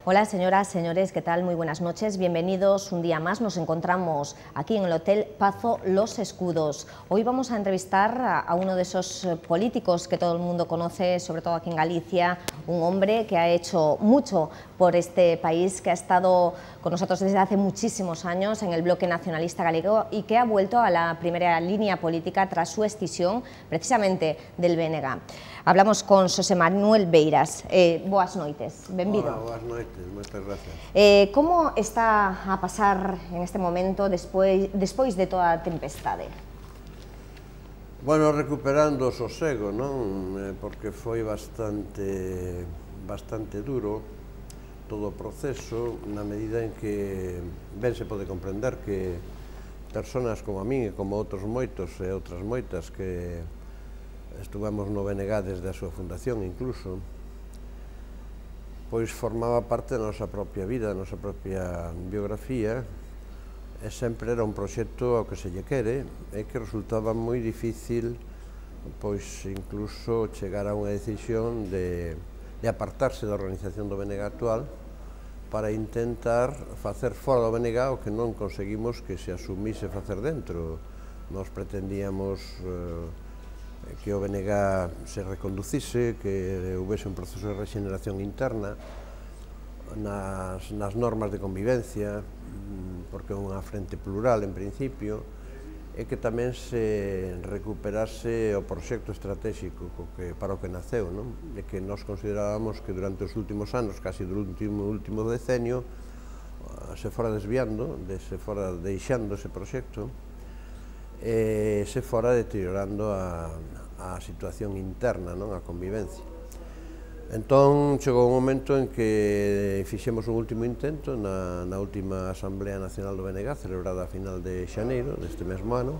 Hola señoras, señores, ¿qué tal? Muy buenas noches, bienvenidos un día más. Nos encontramos aquí en el Hotel Pazo Los Escudos. Hoy vamos a entrevistar a uno de esos políticos que todo el mundo conoce, sobre todo aquí en Galicia, un hombre que ha hecho mucho por este país, que ha estado con nosotros desde hace muchísimos años en el bloque nacionalista galego y que ha vuelto a la primera línea política tras su escisión precisamente del BNG. Hablamos con Xosé Manuel Beiras. Boas noites, benvido. Hola, boas noites, moitas gracias. Como está a pasar en este momento despois de toda a tempestade? Bueno, recuperando o sosego, non? Porque foi bastante duro todo o proceso, na medida en que ben se pode comprender que personas como a min e como outros moitos e outras moitas que estuvemos no BNG desde a súa fundación incluso, pois formaba parte da nosa propia vida, da nosa propia biografía, e sempre era un proxecto ao que se lle quere e que resultaba moi difícil pois incluso chegar a unha decisión de apartarse da organización do BNG actual para intentar facer fora do BNG o que non conseguimos que se asumise facer dentro. Nos pretendíamos que o BNG se reconducise, que houvese un proceso de rexeneración interna nas normas de convivencia, porque é unha frente plural en principio, e que tamén se recuperase o proxecto estratégico para o que naceu, e que nós considerábamos que durante os últimos anos, casi do último decenio, se fora desviando, se fora deixando ese proxecto, e se fora deteriorando a situación interna, a convivencia. Entón, chegou un momento en que fixemos un último intento na última Asamblea Nacional do BNG, celebrada a final de xaneiro deste mesmo ano,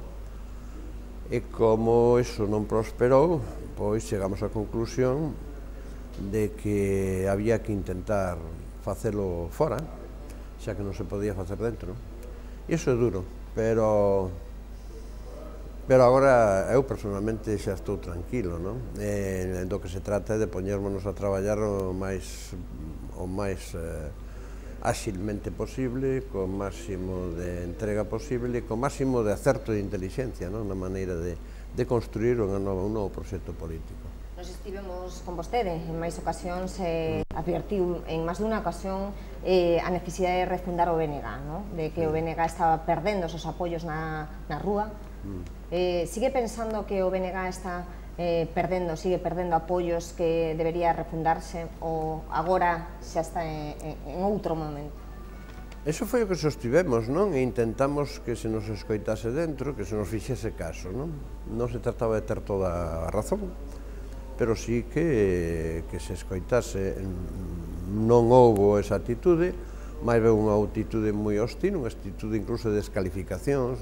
e como iso non prosperou, pois chegamos á conclusión de que había que intentar facelo fora, xa que non se podía facer dentro. E iso é duro, pero agora eu personalmente xa estou tranquilo, do que se trata é de poñérmonos a traballar o máis áxilmente posible, co máximo de entrega posible e co máximo de acerto de inteligencia na maneira de construir un novo proxecto político. Nos estivemos con vostede en máis ocasións, advertiu en máis dunha ocasión a necesidade de refundar o BNG, de que o BNG estaba perdendo os apoios na rúa. Sigue pensando que o BNG está sigue perdendo apoios, que debería refundarse, ou agora xa está en outro momento? Eso foi o que sostivemos, e intentamos que se nos escoitase dentro, que se nos fixese caso, non se trataba de ter toda a razón, pero sí que se escoitase. Non houbo esa atitude, máis ben unha atitude moi hostil, unha atitude incluso de descalificacións,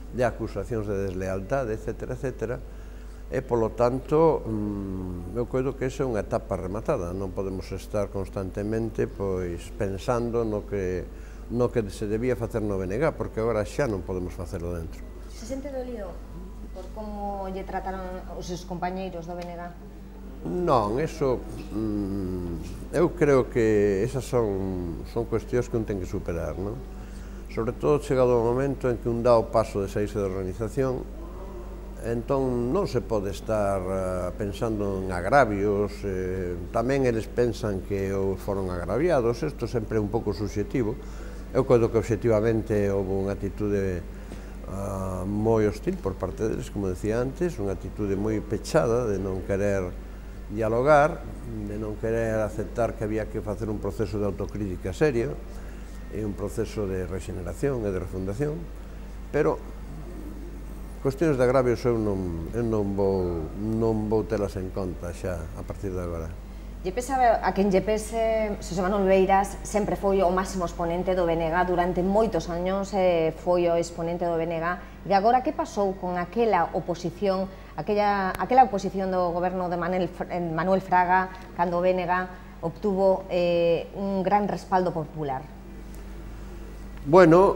de acusacións de deslealtade, etc. E, polo tanto, eu coido que esa é unha etapa rematada. Non podemos estar constantemente pensando no que se debía facer no BNG, porque agora xa non podemos facelo dentro. Se sente dolido por como lle trataron os seus compañeiros do BNG? Non, eso, eu creo que esas son cuestións que un ten que superar, sobre todo chegado o momento en que un dá o paso de saírse da organización, entón non se pode estar pensando en agravios, tamén eles pensan que foron agraviados, isto sempre é un pouco subxetivo. Eu coido que obxectivamente houve unha atitude moi hostil por parte deles, como decía antes, unha atitude moi pechada de non querer dialogar, de non querer aceptar que había que facer un proceso de autocrítica serio e un proceso de rexeneración e de refundación, pero cuestións de agravios eu non vou telas en conta xa a partir de agora. Lle pesa a quen lle pese, Xosé Manuel Beiras sempre foi o máximo exponente do BNG durante moitos años, foi o exponente do BNG, e agora que pasou con aquela oposición, aquela oposición do goberno de Manuel Fraga, cando o BNG obtuvo un gran respaldo popular? Bueno,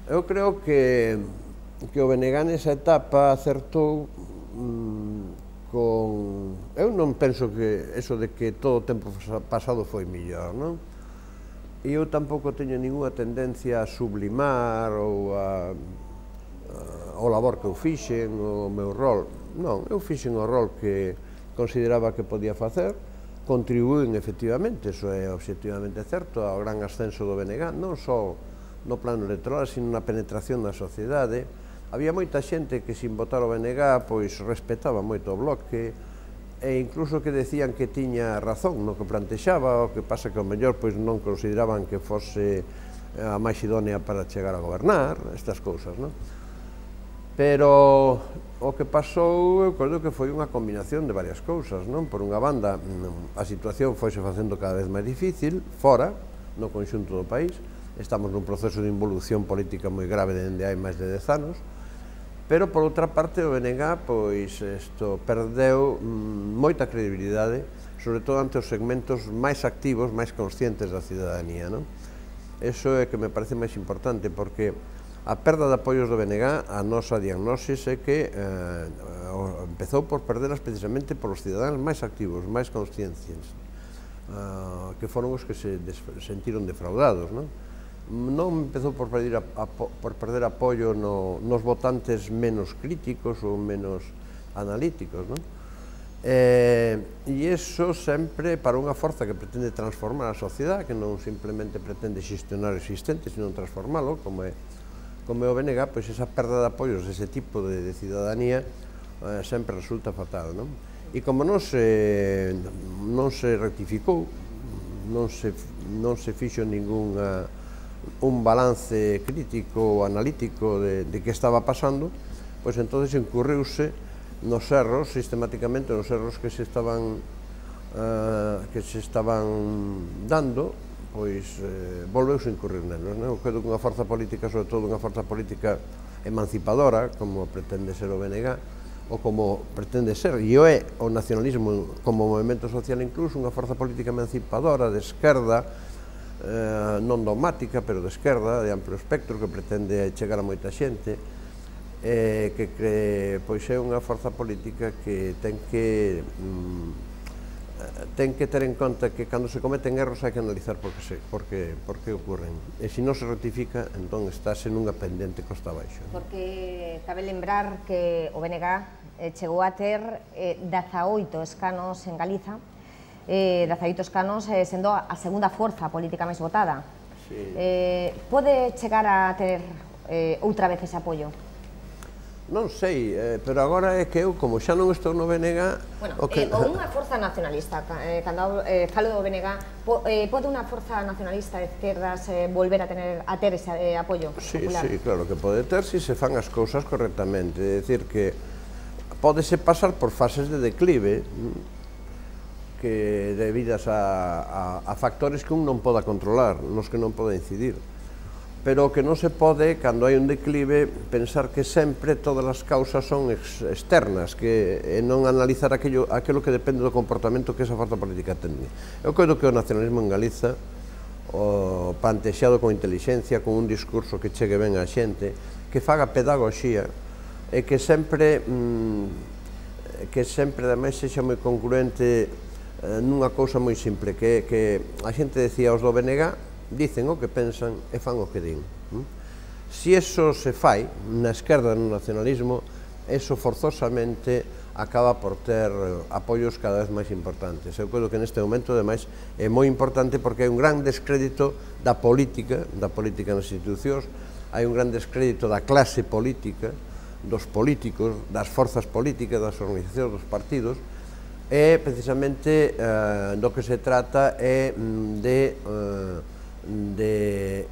eu creo que o BNG nesa etapa acertou Eu non penso que eso de que todo o tempo pasado foi millor, non? E eu tampouco teño ninguna tendencia a sublimar ou o labor que eu fixen, o meu rol. Non, eu fixen o rol que consideraba que podía facer, contribuín efectivamente, iso é obxectivamente certo, ao gran ascenso do BNG, non só no plano electoral, sino na penetración na sociedade. Había moita xente que, sin votar o BNG, pois respetaba moito o Bloque, e incluso que decían que tiña razón no que plantexaba, o que pasa que ao mellor pois non consideraban que fose a máis idónea para chegar a gobernar, estas cousas, non? Pero o que pasou, eu creo que foi unha combinación de varias cousas, non? Por unha banda, a situación foise facendo cada vez máis difícil, fora, no conxunto do país, estamos nun proceso de involución política moi grave dende hai máis de 10 anos, pero, por outra parte, o BNG pois, perdeu moita credibilidade, sobre todo ante os segmentos máis activos, máis conscientes da cidadanía, non? Eso é que me parece máis importante, porque a perda de apoios do BNG, a nosa diagnosis é que empezou por perderas precisamente polos cidadáns máis activos, máis conscientes, que foron os que se sentiron defraudados, non? Non empezou por perder apoio nos votantes menos críticos ou menos analíticos, non? E iso sempre para unha forza que pretende transformar a sociedade, que non simplemente pretende xestionar o existente, sino transformalo, como é o BNG, pois esa perda de apoios dese tipo de cidadanía sempre resulta fatal, non? E como non se rectificou, non se fixo un balance crítico ou analítico de que estaba pasando, pois entonces incurriuse nos erros, sistemáticamente nos erros que se estaban dando, pois volveuse a incurrir nelos. Eu creo que unha forza política, sobre todo unha forza política emancipadora, como pretende ser o BNG, ou como pretende ser, e é o nacionalismo como movimento social incluso, unha forza política emancipadora, de esquerda, non dogmática, pero de esquerda, de amplo espectro, que pretende chegar a moita xente, que pois é unha forza política que ten que ter en conta que cando se cometen erros hai que analizar por que ocorren, e se non se rectifica, entón estáse nunha pendente costa abaixo. Porque cabe lembrar que o BNG chegou a ter 18 escanos en Galiza, 18 escanos sendo a segunda forza política máis votada. Pode chegar a ter outra vez ese apoio? Non sei, pero agora é que eu, como xa non estou no BNG... Ou unha forza nacionalista, cando falo do BNG, pode unha forza nacionalista de esquerdas volver a ter ese apoio popular? Sí, claro que pode ter se fan as cousas correctamente, é dicir que pódese pasar por fases de declive, que debidas a factores que un non poda controlar, nos que non poda incidir. Pero que non se pode, cando hai un declive, pensar que sempre todas as causas son externas, que non analizar aquilo que depende do comportamento que esa forza política tende. Eu creo que o nacionalismo en Galiza, plantexado con inteligencia, con un discurso que chegue ben á xente, que faga pedagogía, e que sempre, ademais, sexa moi concluente nunha cousa moi simple, que a xente decía, os do BNG dicen o que pensan e fan o que din. Se iso se fai na esquerda, no nacionalismo, eso forzosamente acaba por ter apoios cada vez máis importantes. Eu creo que neste momento, ademais, é moi importante porque hai un gran descrédito da política nas institucións, hai un gran descrédito da clase política, dos políticos, das forzas políticas, das organizacións, dos partidos, e precisamente do que se trata é de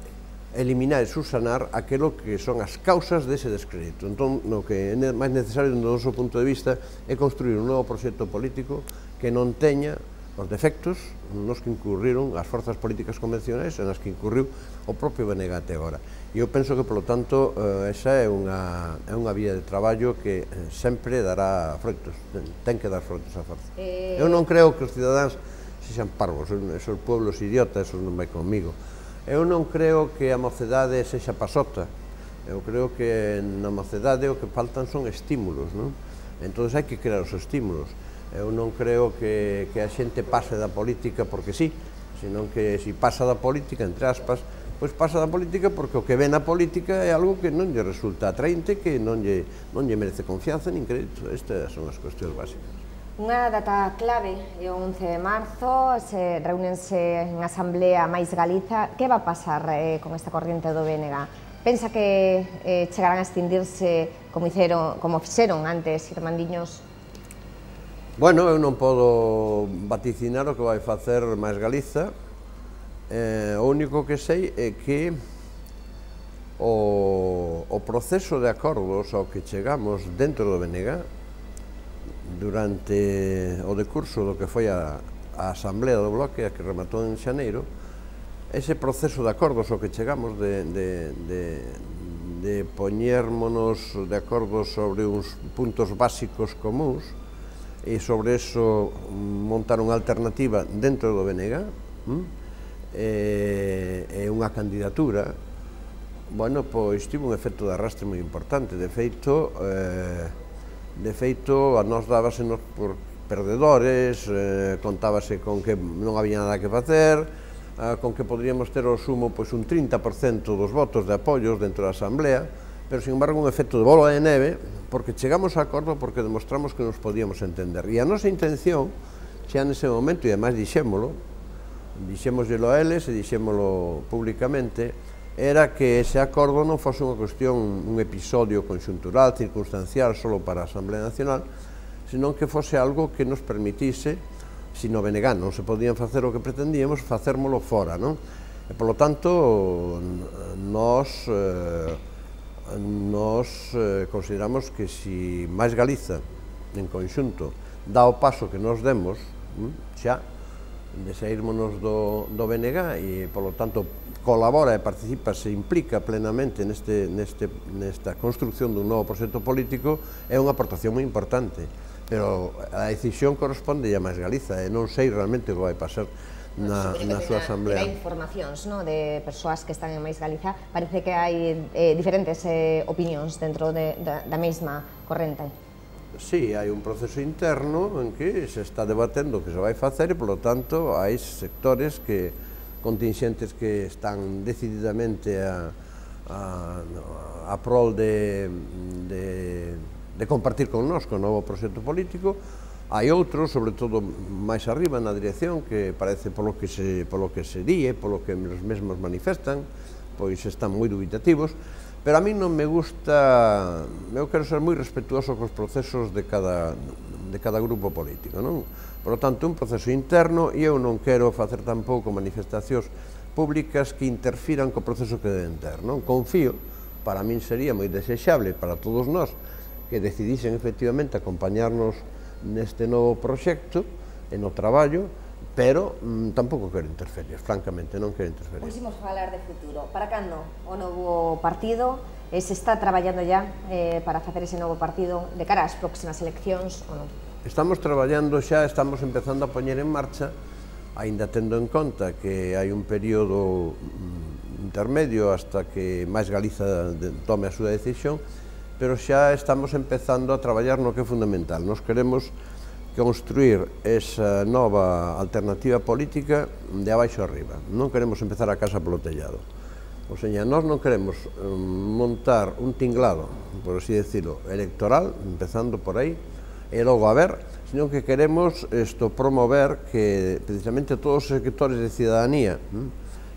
eliminar e subsanar aquilo que son as causas dese descrédito. Entón, o que é máis necesario, do noso punto de vista, é construir un novo proxecto político que non teña os defectos nos que incurriron as forzas políticas convencionais e nas que incurriu o propio BNG até agora. E eu penso que, polo tanto, esa é unha vía de traballo que sempre dará froitos, ten que dar froitos a forza. Eu non creo que os cidadáns sexan parvos, esos pueblos idiotas, esos non vai comigo. Eu non creo que a mocedade sexa pasota, eu creo que na mocedade o que faltan son estímulos, non? Entón hai que crear os estímulos. Eu non creo que a xente pase da política porque sí, senón que se pasa da política, entre aspas, pois pasa da política porque o que ve na política é algo que non lle resulta atraente, que non lle merece confianza nin crédito. Estas son as cuestións básicas. Unha data clave é o 11 de marzo, se reúnense en Asamblea Mais Galiza. Que va a pasar con esta corriente do BNG? Pensa que chegarán a extindirse como fixeron antes Irmandiños? Bueno, eu non podo vaticinar o que vai facer Mais Galiza. O único que sei é que o proceso de acordos ao que chegamos dentro do BNG durante o decurso do que foi a Asamblea do Bloque, a que rematou en xaneiro, ese proceso de acordos ao que chegamos de poñérmonos de acordo sobre uns puntos básicos comuns e sobre eso montar unha alternativa dentro do BNG e unha candidatura, bueno, pois tivo un efecto de arrastre moi importante. De feito, a nós dábasenos por perdedores, contábase con que non había nada que facer, con que poderíamos ter ao sumo un 30% dos votos de apoios dentro da Asamblea, pero, sin embargo, un efecto de bola de neve, porque chegamos a acordo porque demostramos que nos podíamos entender. E a nosa intención, xa nese momento, e ademais dixémoslo a eles e dixémoslo públicamente, era que ese acordo non fose unha cuestión, un episodio conxuntural, circunstancial, solo para a Asamblea Nacional, senón que fose algo que nos permitise, se no BNG non se podían facer o que pretendíamos, facérmolo fora, non? E, polo tanto, nós consideramos que se Mais Galiza, en conxunto, dá o paso que nos demos, xa, de saírmonos do BNG e, polo tanto, colabora e participa, se implica plenamente nesta construcción dun novo proxecto político, é unha aportación moi importante. Pero a decisión corresponde a Mais Galiza e non sei realmente o que vai pasar na súa Asamblea. Hai informacións de persoas que están en Mais Galiza, parece que hai diferentes opinións dentro da mesma corrente. Sí, hai un proceso interno en que se está debatendo o que se vai facer e, polo tanto, hai sectores contingentes que están decididamente a prol de compartir con nós o novo proxecto político. Hai outros, sobre todo máis arriba na dirección, que parece polo que se di, polo que os mesmos manifestan, pois están moi dubitativos, pero a mí non me gusta, eu quero ser moi respetuoso cos procesos de cada grupo político, non? Por lo tanto, un proceso interno, e eu non quero facer tampouco manifestacións públicas que interfiran co proceso que deben ter, non? Confío, para min sería moi desexable para todos nós que decidisen efectivamente acompañarnos neste novo proxecto e no traballo, pero tampouco quero interferir, francamente, non quero interferir. Pois imos falar de futuro. Para cando o novo partido? Se está traballando ya para facer ese novo partido de cara ás próximas eleccións ou non? Estamos traballando xa, estamos empezando a poñer en marcha, aínda tendo en conta que hai un período intermedio hasta que Mais Galiza tome a súa decisión, pero xa estamos empezando a traballar no que é fundamental. Nos queremos construir esa nova alternativa política de abaixo arriba. Non queremos empezar a casa polo tellado. O sea, nós non queremos montar un tinglado, por así decirlo, electoral, empezando por aí, e logo a ver, sino que queremos promover que precisamente todos os sectores de cidadanía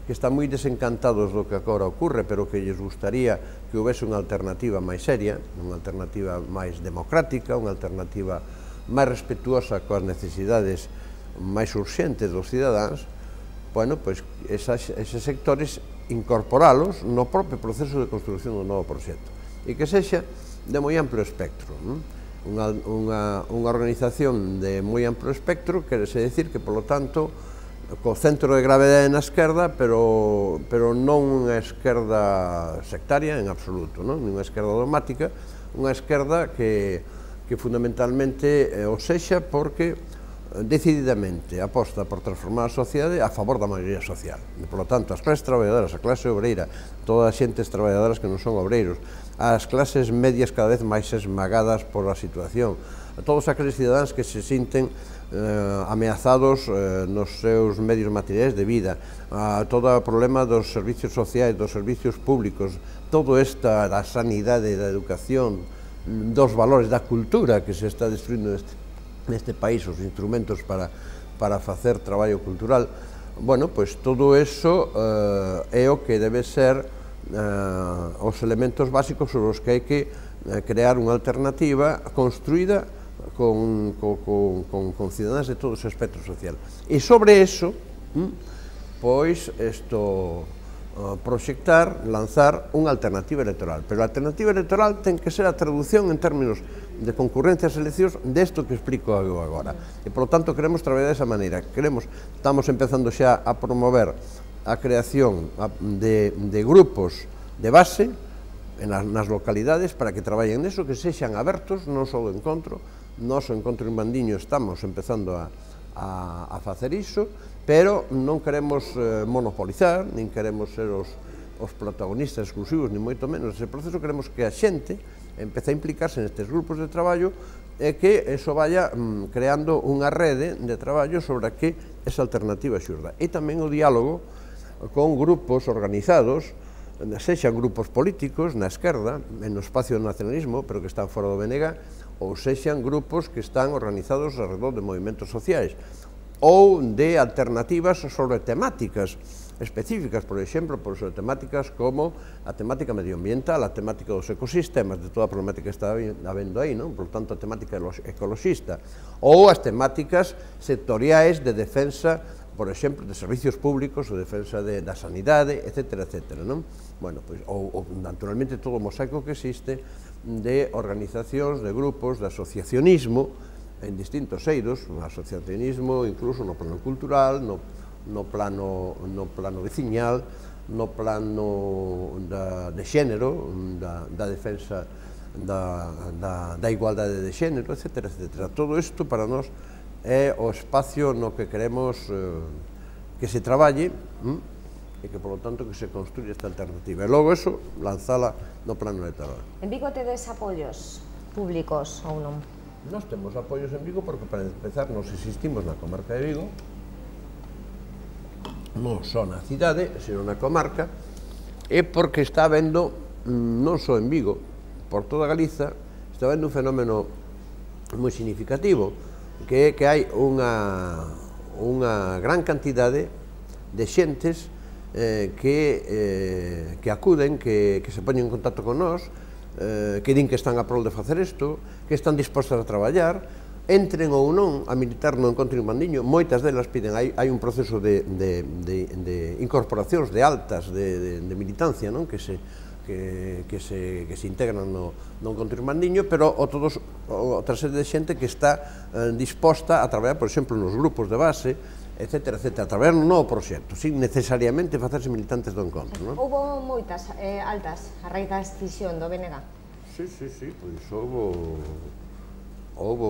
que están moi desencantados do que agora ocurre, pero que lles gustaría que houvese unha alternativa máis seria, unha alternativa máis democrática, unha alternativa máis respetuosa coas necesidades máis urxentes dos cidadáns, bueno, pois eses sectores incorporalos no propio proceso de construcción do novo proxecto e que sexa de moi amplo espectro. Unha organización de moi amplo espectro quere decir que, polo tanto, co centro de gravedade na esquerda, pero non unha esquerda sectaria en absoluto, non unha esquerda dogmática, unha esquerda que fundamentalmente o sexa porque decididamente aposta por transformar a sociedade a favor da maioría social. E, por lo tanto, as clases traballadoras, a clase obreira, todas as xentes traballadoras que non son obreiros, as clases medias cada vez máis esmagadas por a situación, todos aqueles cidadáns que se sinten ameazados nos seus medios materiais de vida, todo o problema dos servicios sociais, dos servicios públicos, todo esta da sanidade, da educación, dos valores da cultura que se está destruindo neste país, os instrumentos para facer traballo cultural. Bueno, pois todo eso é o que debe ser os elementos básicos sobre os que hai que crear unha alternativa construída con cidadáns de todo o espectro social. E sobre eso, pois, proxectar, lanzar unha alternativa electoral. Pero a alternativa electoral ten que ser a traducción en términos de concurrencia ás eleccións desto que explico eu agora. E, por lo tanto, queremos traballar desa maneira. Estamos empezando xa a promover a creación de grupos de base nas localidades para que traballen neso, que sexan abertos, non só o encontro. Nós, o Encontro en Mandiño, estamos empezando a facer iso, pero non queremos monopolizar, nin queremos ser os protagonistas exclusivos, ni moito menos ese proceso. Queremos que a xente empece a implicarse nestes grupos de traballo e que eso vaya creando unha rede de traballo sobre a que esa alternativa xurda. E tamén o diálogo con grupos organizados, sexan grupos políticos na esquerda, no espacio do nacionalismo, pero que están fora do BNG, ou sexan grupos que están organizados alrededor de movimentos sociais, ou de alternativas sobre temáticas específicas, por exemplo, sobre temáticas como a temática medioambiental, a temática dos ecosistemas, de toda a problemática que está habendo aí, non? Por tanto, a temática ecoloxista, ou as temáticas sectoriais de defensa, por exemplo, de servicios públicos, ou defensa da sanidade, etc., etc., non? Bueno, pois, ou naturalmente todo o mosaico que existe de organizacións, de grupos, de asociacionismo en distintos eidos, asociacionismo incluso no plano cultural, no plano veciñal, no plano de xénero, da defensa da igualdade de xénero, etc., etc. Todo isto para nós é o espacio no que queremos que se traballe e que, por lo tanto, que se construya esta alternativa. E logo, eso, lanzala no plano electoral. En Vigo tedes apoios públicos ou non? Nós temos apoios en Vigo porque, para empezar, nos existimos na comarca de Vigo, non só na cidade, sino na comarca, e porque está habendo, non só en Vigo, por toda Galiza, está habendo un fenómeno moi significativo, que é que hai unha gran cantidade de xentes que acuden, que se poñen en contacto con nós, que din que están a prol de facer isto, que están dispostas a traballar, entren ou non a militar no Encontro en Mandiño. Moitas delas piden, hai un proceso de incorporacións de altas de militancia, que se integran no Encontro en Mandiño, pero outra serie de xente que está disposta a traballar, por exemplo, nos grupos de base, etc., etc., a traballar no novo proxecto, sin necesariamente facerse militantes do encontro. Houbo moitas altas a raíz da decisión do BNG? Sí, pois houbo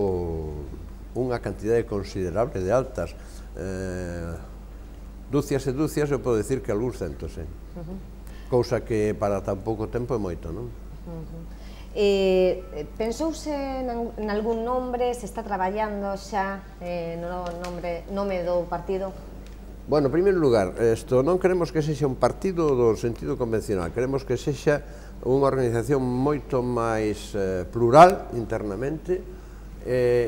unha cantidade considerable de altas, dúcias e dúcias, eu podo dicir que algúns centos, cousa que para tan pouco tempo é moito, non? Pensouse en algún nombre, se está traballando xa no nome do partido? Bueno, en primeiro lugar, non queremos que sexa un partido do sentido convencional, queremos que sexa unha organización moito máis plural internamente,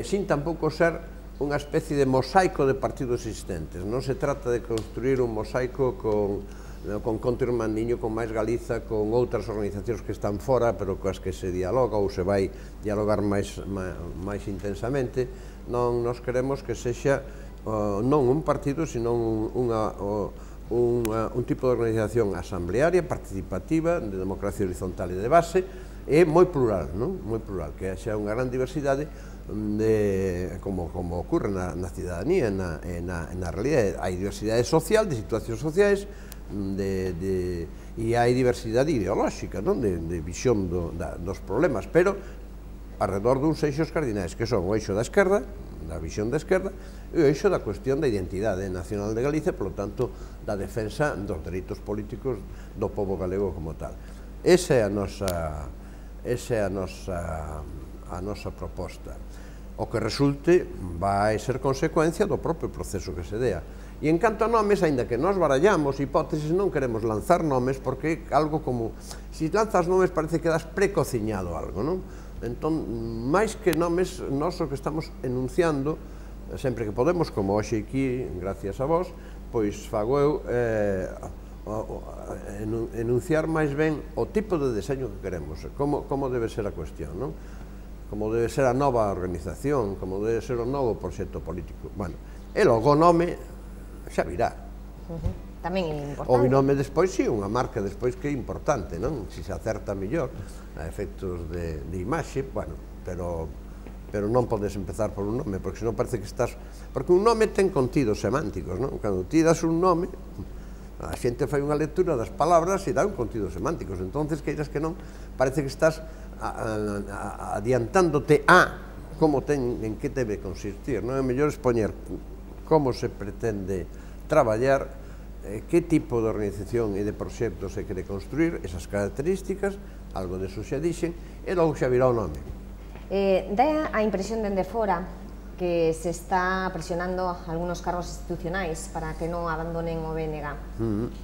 sin tampouco ser unha especie de mosaico de partidos existentes. Non se trata de construir un mosaico con Encontro en Mandiño, con Máis Galiza, con outras organizacións que están fora, pero coas que se dialoga ou se vai dialogar máis intensamente. Non nos queremos que sexa non un partido, sino un tipo de organización asamblearia, participativa, de democracia horizontal e de base, e moi plural, moi plural, que haxa unha gran diversidade, como ocurre na cidadanía e na realidade. Hai diversidade social, de situacións sociais, e hai diversidade ideolóxica, de visión dos problemas, pero alrededor duns eixos cardinais, que son o eixo da esquerda, da visión da esquerda, e o eixo da cuestión da identidade nacional de Galicia, polo tanto, da defensa dos dereitos políticos do pobo galego como tal. Esa é a nosa proposta. O que resulte vai ser consecuencia do propio proceso que se dea. E en canto a nomes, aínda que nós barallamos hipótesis, non queremos lanzar nomes porque algo como, se lanzas nomes parece que das precociñado algo, non? Entón, máis que nomes, nós o que estamos enunciando, sempre que podemos, como hoxe aquí, gracias a vos, pois fago eu enunciar máis ben o tipo de deseño que queremos, como debe ser a cuestión, non? Como debe ser a nova organización, como debe ser o novo proxecto político. Bueno, e logo o nome xa virá. Tamén é importante. O nome despois, sí, unha marca despois que é importante, non? Se se acerta mellor a efectos de imaxe, bueno, pero non podes empezar por un nome, porque senón parece que estás... Porque un nome ten contidos semánticos, non? Cando ti das un nome, a xente fai unha lectura das palabras e dá un contido semánticos, entonces, queiras que non, parece que estás adiantándote a como en que debe consistir, non? É mellor expoñer como se pretende traballar, que tipo de organización e de proxecto se quere construir, esas características, algo de eso xa dixen, e logo xa virá o nome. Dá a impresión dende fora que se está presionando algunos cargos institucionais para que non abandonen o BNG.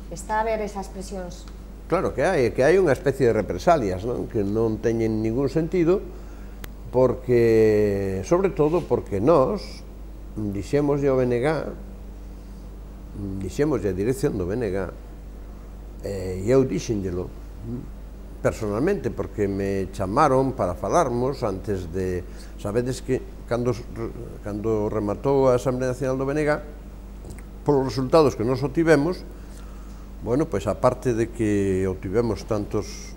Está a ver esas presións? Claro que hai unha especie de represalias, non? Que non teñen ningún sentido, porque, sobre todo, porque nós dixémoslle ao BNG, dixémoslle a dirección do BNG, e eu dixenllelo personalmente, porque me chamaron para falarmos antes de... Sabedes que cando rematou a Asamblea Nacional do BNG, polos resultados que nos obtivemos, bueno, pois aparte de que obtivemos tantos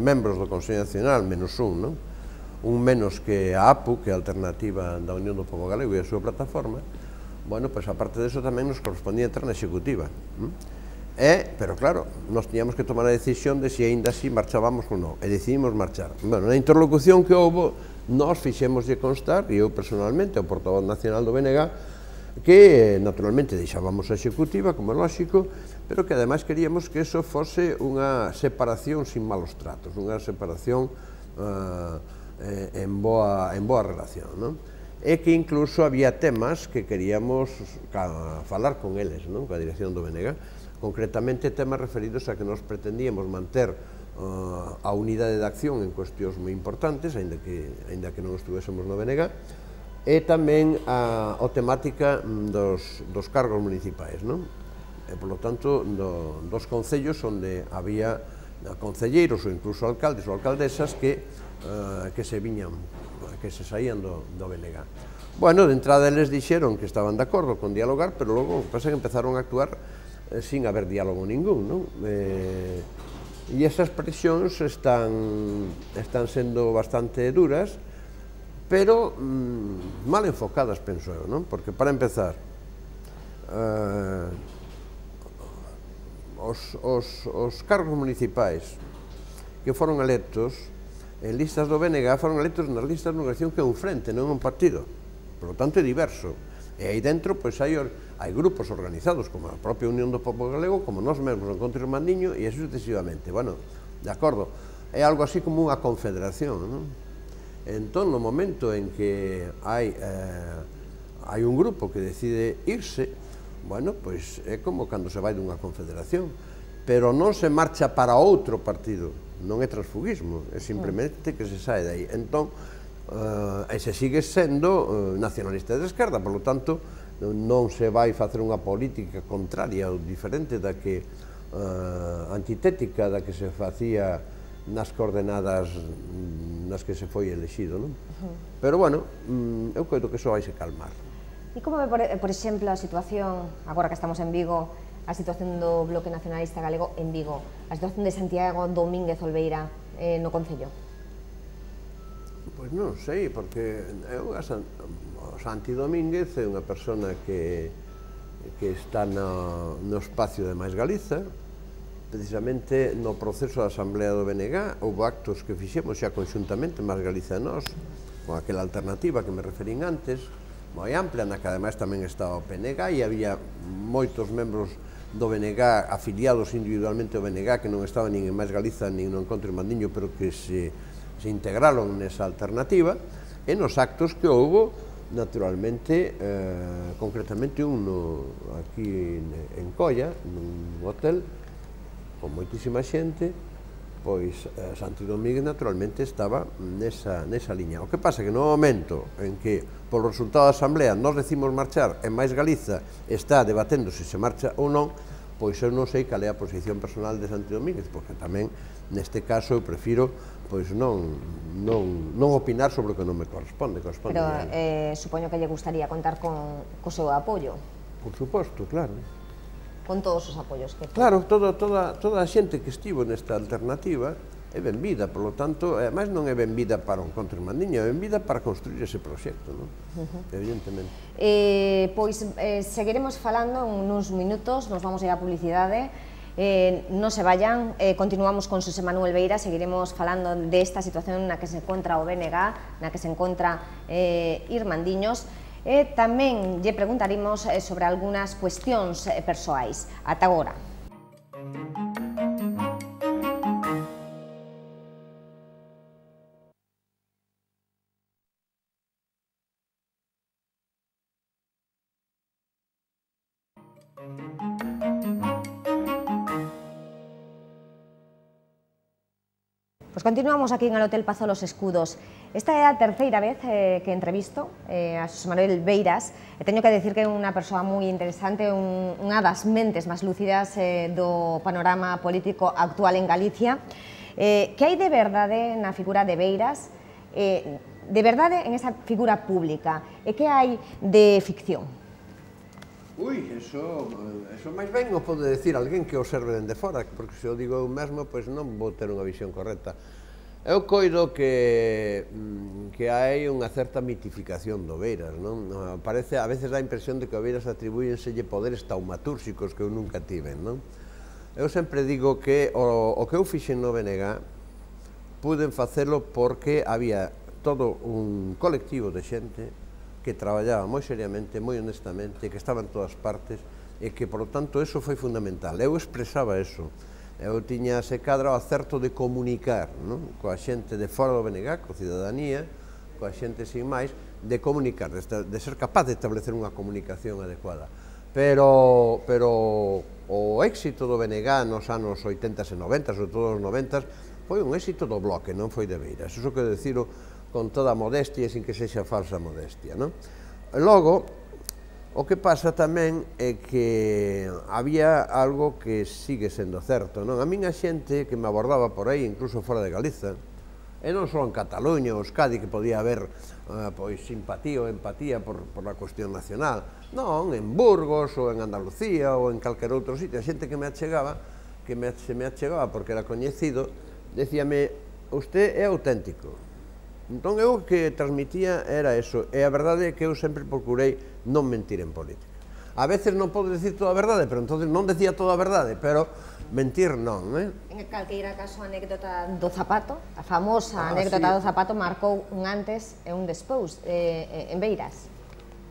membros do Consello Nacional, menos un, non? Un menos que a APU, que é a Alternativa da Unión do Pobo Galego e a súa plataforma, bueno, pois aparte de eso tamén nos correspondía entrar na executiva. Pero claro, nos tiñamos que tomar a decisión de se aínda así marchábamos ou non, e decidimos marchar. Bueno, na interlocución que houve, nós fixémoslle constar, e eu personalmente, o portavoz nacional do BNG, que naturalmente deixábamos a executiva, como é lógico, pero que ademais queríamos que eso fose unha separación sin malos tratos, unha separación en boa relación, non? E que incluso había temas que queríamos falar con eles, non? Coa dirección do BNG, concretamente temas referidos a que nos pretendíamos manter a unidade de acción en cuestións moi importantes, aínda que non estuvésemos no BNG, e tamén a temática dos cargos municipais, non? E, polo tanto, dos concellos onde había concelleiros ou incluso alcaldes ou alcaldesas que se viñan, que se saían do BNG. Bueno, de entrada eles dixeron que estaban de acordo con dialogar, pero logo pasa que empezaron a actuar sin haber diálogo ningún, non? E esas presións están sendo bastante duras, pero mal enfocadas, penso eu, non? Porque, para empezar, os cargos municipais que foron electos en listas do BNG foron electos nas listas dunha elección que é un frente, non un partido. Por lo tanto, é diverso. E aí dentro, pois, hai grupos organizados, como a propia Unión do Pobo Galego, como nós mesmos, o Encontro Irmandiño, e así sucesivamente. Bueno, de acordo, é algo así como unha confederación, non? Entón, no momento en que hai un grupo que decide irse, bueno, pois é como cando se vai dunha confederación, pero non se marcha para outro partido, non é transfugismo, é simplemente que se sae dai. Entón, se sigue sendo nacionalista de esquerda, por lo tanto, non se vai facer unha política contraria ou diferente da que antitética da que se facía nas coordenadas nas que se foi elexido, non? Pero, bueno, eu coido que iso vai se calmar. E como ve, por exemplo, a situación, agora que estamos en Vigo, a situación do Bloque Nacionalista Galego en Vigo, a situación de Santiago Domínguez Olveira no Concello? Pois non sei, porque Santi Domínguez é unha persona que está no espacio de Máis Galiza. Precisamente no proceso da Asamblea do BNG houve actos que fixemos xa conxuntamente Máis Galiza e nós, con aquela alternativa que me referín antes, moi ampla, na que ademais tamén estaba o PNG, e había moitos membros do BNG afiliados individualmente ao BNG que non estaban nin en Máis Galiza nin no Encontro Irmandiño, pero que se integraron nesa alternativa, e nos actos que houbo, naturalmente, concretamente aquí en Colla, nun hotel, con moitísima xente, pois Santi Domínguez naturalmente estaba nesa liña. O que pasa que no momento en que, polo resultado da Asamblea, nós decimos marchar e Máis Galiza está debatendo se se marcha ou non, pois eu non sei cal é a posición personal de Santi Domínguez, porque tamén, neste caso, eu prefiro pois non opinar sobre o que non me corresponde. Pero supoño que lle gustaría contar co seu apoio. Por suposto, claro. Con todos os apoios que... Claro, toda a xente que estivo nesta alternativa é benvida, polo tanto, ademais non é benvida para o Encontro Irmandiño, é benvida para construir ese proxecto, non? Evidentemente. Pois seguiremos falando nuns minutos, nos vamos a ir a publicidade, non se vayan, continuamos con Xosé Manuel Beira, seguiremos falando desta situación na que se encontra o BNG, na que se encontra Irmandiños, e tamén lle preguntaremos sobre algunhas cuestións persoais. Ata agora. Pues continuamos aquí en el Hotel Pazo Los Escudos. Esta é a terceira vez que entrevisto a Xosé Manuel Beiras. E teño que decir que é unha persoa moi interesante, unha das mentes máis lúcidas do panorama político actual en Galicia. Que hai de verdade na figura de Beiras, de verdade en esa figura pública, e que hai de ficción? Ui, eso máis ben o pode decir alguén que observe dende fora, porque se o digo eu mesmo, pois non vou ter unha visión correcta. Eu coido que hai unha certa mitificación do Beiras, non? Parece, a veces dá a impresión de que o Beiras atribúyenselle poderes taumatúrxicos que eu nunca tiven, non? Eu sempre digo que o que eu fixen no BNG puden facelo porque había todo un colectivo de xente que traballaba moi seriamente, moi honestamente, que estaba en todas partes e que, por lo tanto, eso foi fundamental. Eu expresaba eso. Eu tiña ese cadro o acerto de comunicar coa xente de fora do BNG, coa cidadanía, coa xente sin máis, de comunicar, de ser capaz de establecer unha comunicación adecuada. Pero o éxito do BNG nos anos 80 e 90, sobre todo os 90, foi un éxito do Bloque, non foi de Beiras. Iso quero diciro con toda a modestia e sin que sexa falsa modestia, non? Logo, o que pasa tamén é que había algo que sigue sendo certo, non? A min a xente que me abordaba por aí, incluso fora de Galiza, e non só en Cataluña ou Euskadi, que podía haber simpatía ou empatía por a cuestión nacional, non, en Burgos ou en Andalucía ou en calquer outro sitio, a xente que me achegaba, se me achegaba porque era coñecido, decíame, usted é auténtico. Entón, eu o que transmitía era eso, e a verdade é que eu sempre procurei non mentir en política. A veces non podo decir toda a verdade, pero entonces non decía toda a verdade, pero mentir non, En calqueira caso, a anécdota do zapato, a famosa anécdota do zapato, marcou un antes e un despois en Beiras.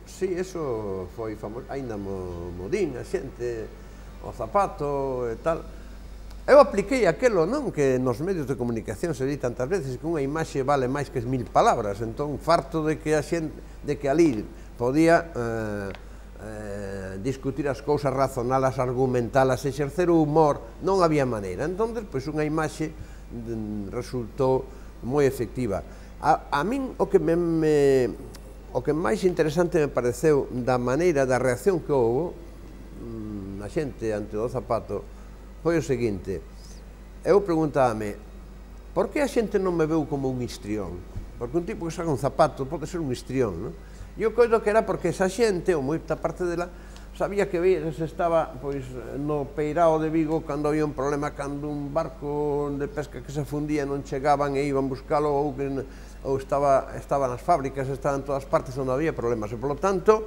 Sí, eso foi famoso, aínda mo din a xente, o zapato e tal. Eu apliquei aquelo, non, que nos medios de comunicación se di tantas veces que unha imaxe vale máis que 1000 palabras, entón farto de que a xente, de que ali podía discutir as cousas, razonalas, argumentalas, exercer o humor, non había maneira. Entón, pois unha imaxe resultou moi efectiva. A min o que máis interesante me pareceu da maneira, da reacción que houve a xente ante o zapato foi o seguinte, eu preguntábame, por que a xente non me veu como un histrión? Porque un tipo que saca un zapato pode ser un histrión, non? E eu coido que era porque esa xente, ou moita parte dela, sabía que Beiras estaba no peirao de Vigo cando había un problema, cando un barco de pesca que se fundía non chegaban e iban buscalo, ou estaba nas fábricas, estaba en todas partes onde había problemas, e polo tanto,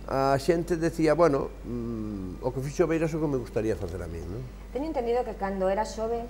a xente decía, bueno, o que fixo Beiras é o que me gustaría facer a mí, non? Teño entendido que cando era xove